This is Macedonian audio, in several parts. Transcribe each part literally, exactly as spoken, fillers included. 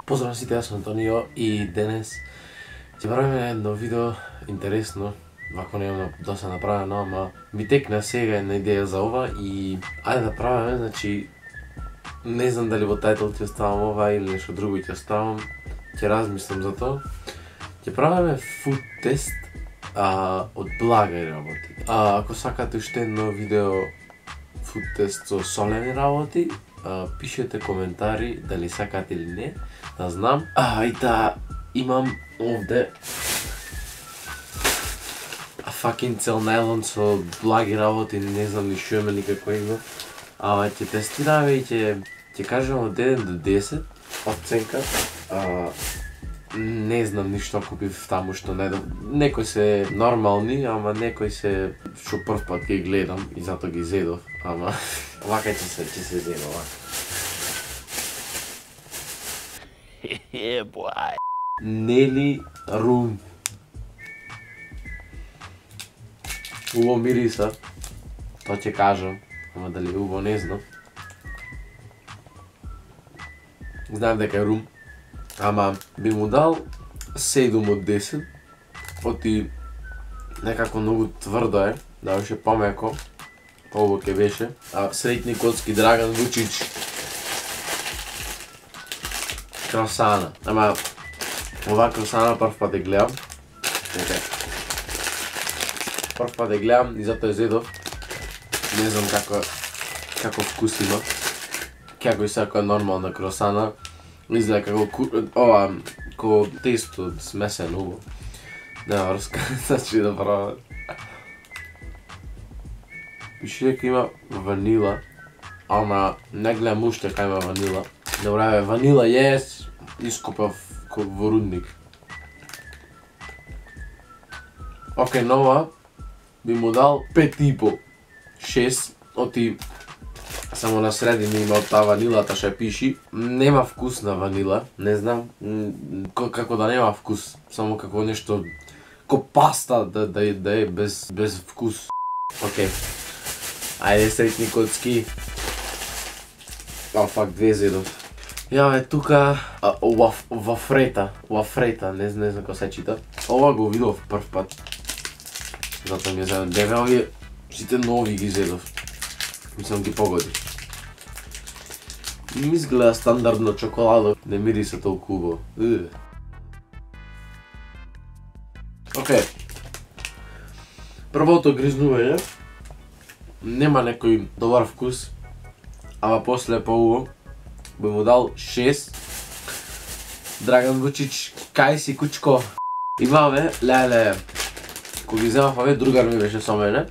Поздрав на сите, јас сум Антонио и денес ќе правиме едно видео интересно. Вако немам доста направено, ама ми текна сега една идеја за ова и ајде да правиме, значи не знам дали во тајтл ќе оставам ова или нешто друго ќе оставам. Ќе размислам за тоа. Ќе правиме фуд тест а, од благај работи. А, ако сакате уште едно видео фуд тест со солени работи, а, пишете коментари дали сакате или не, да знам. А, и да, имам овде fucking цел најлон со благи работи, не знам ни шо има, никако има. Ама ќе тестираме и ќе ќе кажам од еден до десет оценка. А, не знам ништо купив таму што не некои се нормални, ама некои се што прв пат ги гледам и затоа ги зедов, ама вака ќе се ќе се зедо вака. Yeah, boy. Нели рум. Убаво мириса, тоа ќе кажам, ама дали убаво не знам. Знам дека е рум, ама би му дал седум од десет, оти некако многу тврдо е, да беше помеко, ово ќе беше. А среќни коцки Драган Вучич. Кросана, ама ова кросана прв пат ја гледам. Прв пат ја гледам и затоа ја зедов. Не знам како како вкус има. Како и секоја нормална кросана. Изгледа како ова како тесто смесено убаво. Нема врска, значи да правам. Пише дека има ванила, ама не гледам уште кај има ванила. Добре, ванила јес, искупав во рудник. Океј, нова би му дал пет и по, шест, оти само на средина има од таа ванилата што ја пиши. Нема вкус на ванила, не знам, како да нема вкус, само како нешто, како паста да, да, да е без, без вкус. Океј, ајде среќни коцки. О, фак, две зедов. Ја бе, тука, вафрета, вафрета, не знам како се чита. Ова го видов прв пат. Затоа ми е зедов. Деве овие, сите нови ги зедов. Мислам ги погоди. Ми изгледа стандардно чоколада, не мириса толку убаво. Океј. Првото гризнување нема некој добар вкус, ама после поубаво. Би му дал шест. Драган Вучич, кај си кучко? Имаме, леле, кога ги земав овие, другар ми беше со мене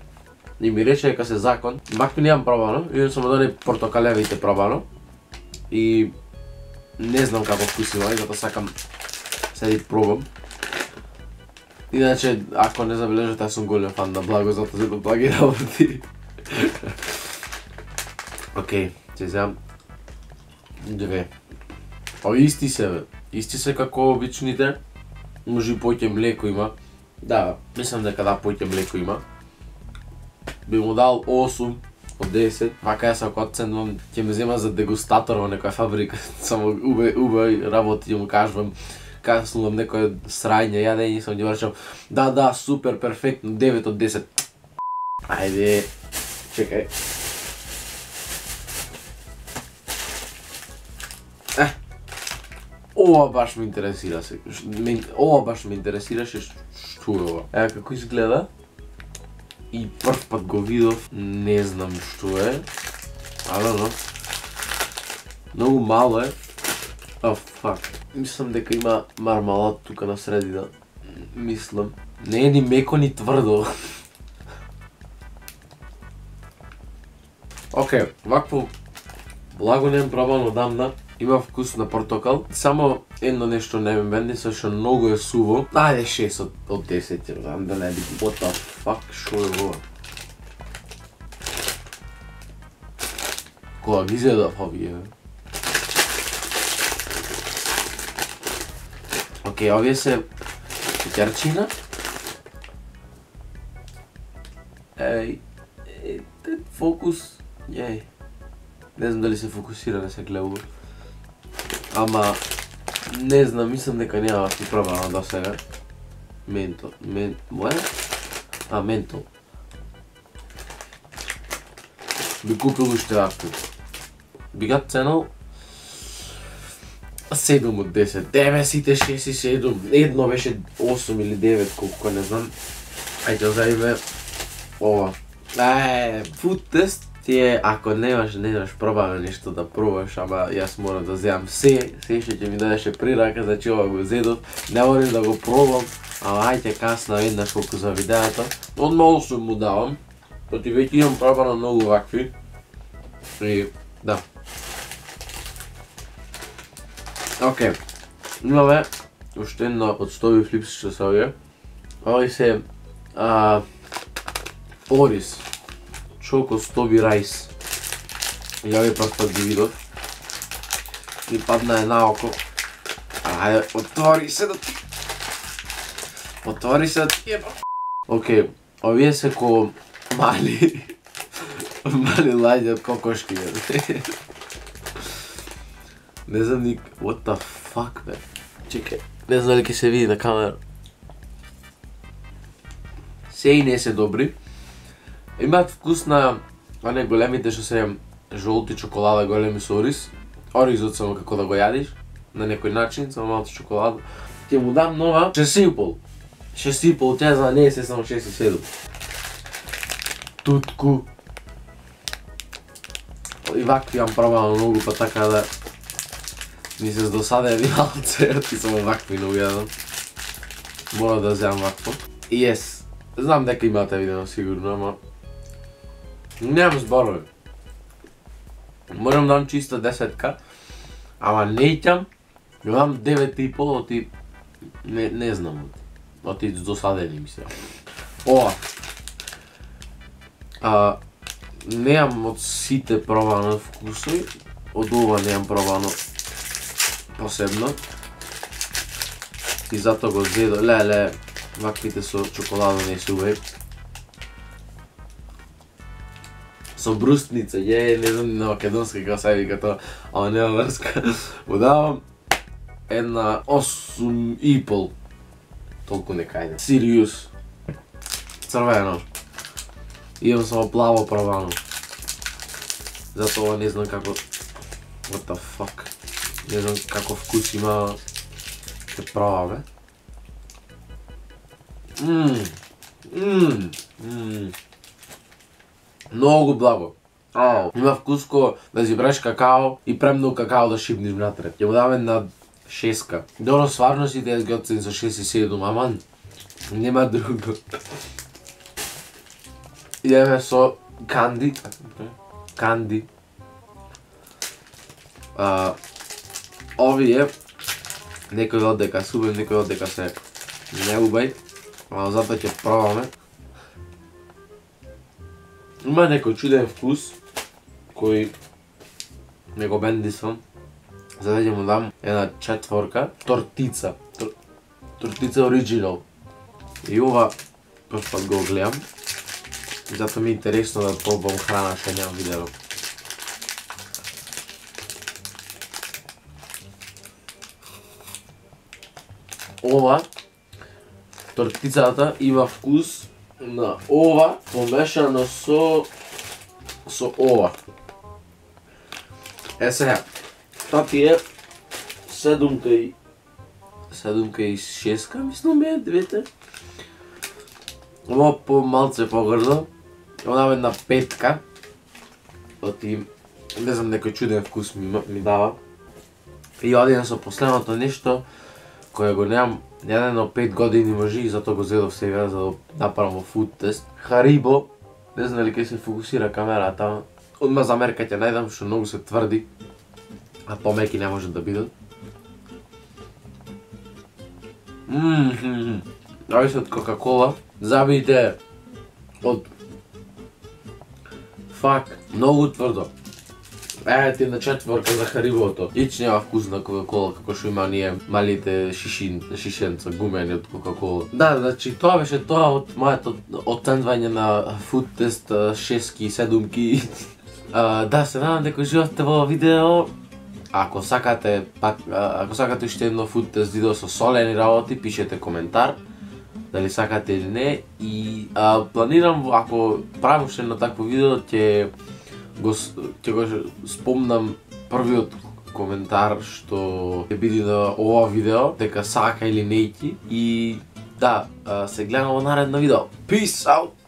и ми рече дека се закон. Макто немам пробано, идем само да не портокалевите пробано и не знам како вкус има, и затоа сакам седи пробам. Иначе, ако не забележате, јас сум голем фан на благо, затоа се благи работи. Океј, ќе земам две. О, исти се бе. Исти се како обичните. Може и поќе млеко има. Да, мислам дека да, поќе млеко има. Би му дал осум од десет. Вака јас ако оценувам, ќе ме зема за дегустатор во некоја фабрика. Само убај, убај работи ќе му кажувам. Каснувам некој срање, јадење и сам ги вршам. Да, да, супер, перфектно, девет од десет. Ајде, чекај. Ова баш ме интересира се. Ова баш ме интересираше што е ова. Ева како изгледа. И прв пат го видов, не знам што е. Алено. Многу мало е. О, фак. Мислам дека има мармалад тука на средина. Мислам. Не е ни меко ни тврдо. Океј, вакво благо немам пробано одамна. Има вкус на портокал. Само едно нешто не ме бенди, со што многу е суво. Ајде шест од, од десет, ја знам да не би. What the fuck, шо е ова? Кога ги зедав овие? Океј, овие се шеќерчина. Еј, е, фокус, еј. Не знам дали се фокусира, не се гледа. Ама Не знам, мислам дека нема да пробано до сега. Ментол, мен, моја? А, ментол. Би купил уште вакви. Би га ценал седум од десет. Деве сите шест и седум. Едно беше осум или девет, колку не знам. Ајде озаиме ова. Ај, фуд тест ти е, ако немаш, не имаш пробано нешто да пробаш, ама јас морам да земам се, се што ќе ми дадеше прирака, значи ова го зедов. Не морам да го пробам, ама ајде касно еднаш колку за видеото. Одма осум му давам, поти веќе имам пробано многу вакви. И, да. Океј, имаме уште една од стови флипс што се овие. Овој се а, Орис Choco Stobi Rice. Ја ви прв пат ги видов. И падна е наоко. Ајде, отвори се да ти. Отвори се да ти ебам. Океј, овие се ко мали мали лаѓе од кокошки. Не знам ник... What the fuck, бе? Чекај, не знам дали ќе се види на камера. Се и не се добри. Имаат вкус на оние големите што се жолти чоколада, големи со ориз. Оризот само како да го јадиш, на некој начин, само малку чоколада. Ќе му дам нова шест и пол. шест и пол, тя за не се само шест и седум. Тутку. И вакви јам пробано многу, па така да ми се здосаде малце, и само вакви не ујадам. Мора да земам вакво. И ес, знам дека имате видено сигурно, ама немам зборови. Морам дам чиста десетка, ама не ќам, дам девет и пол, оти не, не знам, оти здосадени ми се. Ова. А, неам од сите пробано вкусови, од ова неам пробано посебно. И затоа го зедо, леле, ваквите со чоколада не се убави. Со брустница, је, не знам на македонски како се вика тоа, ама нема врска. Му давам една осум и пол. Толку не кајде. Сириус. Црвено. Имам само плаво пробано. Затоа не знам како... What the fuck. Не знам како вкус има... Ке пробаме. Ммм. Ммм. Ммм. Многу благо. Ау. Има вкус ко да си бреш какао и премногу какао да шипниш внатре. Ќе му даме на шеска. Добро, сварно си те ги оцени за шест и седум, аман. Нема друго. Идеме со канди. Канди. А, овие некој од дека се убај, некој од дека се не убај. А затоа ќе пробаме. Има некој чуден вкус кој не го бендисвам. За да ќе му дам една четворка. Тортица. Тор... Тортица оригинал. И ова прв пат го гледам. Затоа ми е интересно да пробам храна што немам видено. Ова тортицата има вкус на ова помешано со со ова. Е сега, тоа ти е седумка и седумка и шеска, мислам бе, двете. Ова по малце погрдо. Ова една петка. Оти, не знам, некој чуден вкус ми, ми дава. И одиме со последното нешто кое го немам јадено пет години може и затоа го зедов сега за да направам фуд тест. Харибо, не знам дали ќе се фокусира камерата, одма замерка ќе најдам што многу се тврди, а помеки не може да бидат. Ммм, зависи од Кока-кола. Забите од фак, многу тврдо. Е, ти на четворка за Харибото. Ич нема вкус на Кока-кола, како што има ние малите шишин, шишенца, гумени од Кока-кола. Да, значи тоа беше тоа од моето оценување на фуд тест шестки и седумки. А, да, се надам дека живеевте во видео Ако сакате пак ако сакате уште едно food test видео со солени работи, пишете коментар дали сакате или не и а, планирам ако правам уште едно такво видео ќе го ќе го спомнам првиот коментар што ќе биде на ова видео, дека сака или нејки и да, се гледаме во наредно видео. Peace out!